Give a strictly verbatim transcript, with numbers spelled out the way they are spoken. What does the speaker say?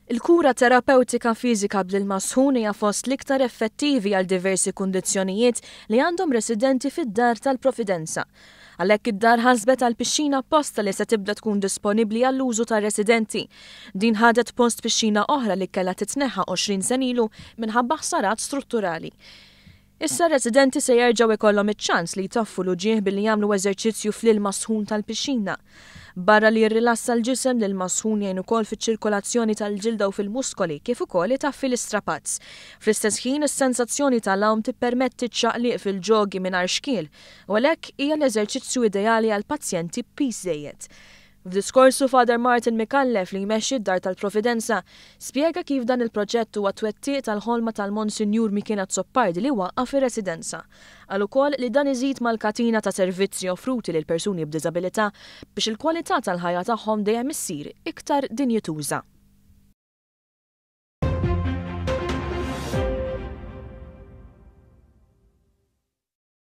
Il-kura terapewtika fiżika bl-ilma sħun hija fost l-iktar effettivi għal diversi kundizzjonijiet li għandhom residenti fid-Dar tal-Providenza. Għalhekk id-dar ħasbet għal pixxina apposta li se tibda tkun disponibbli għall-użu tar-residenti. Din ħadet post pixxina oħra li kellha titneħħa għoxrin sena ilu minħabba ħsarat strutturali. Issa residenti se jerġgħu ikollhom iċ-ċans li jtaffu l-uġigħ billi jagħmlu eżerċizzju fl-ilma sħun tal-pixxina. Barra li jirrilassa l-ġisem, l-ilma sħun jgħin ukoll fiċ-ċirkolazzjoni tal-ġilda u fil-muskoli, kif ukoll itaffi l-istrapazz. Fl-istess ħin, is-sensazzjoni tal-għawm tippermetti ċaqliq fil-ġogi mingħajr xkiel u għalhekk hija l-eżerċizzju ideali għal pazjenti b'piż żejjed. F'diskorsu, Father Martin Micallef, li jmexxi d-Dar tal-Providenza, spjega kif dan il-proġett huwa twettiq tal-ħolma tal-Monsinjur Mikiel Azzopardi li waqqaf ir-residenza. Qal ukoll li dan iżid mal-katina ta' servizzi offruti lil persuni b'diżabilità biex il-kwalità tal-ħajja tagħhom dejjem issir iktar dinjituża.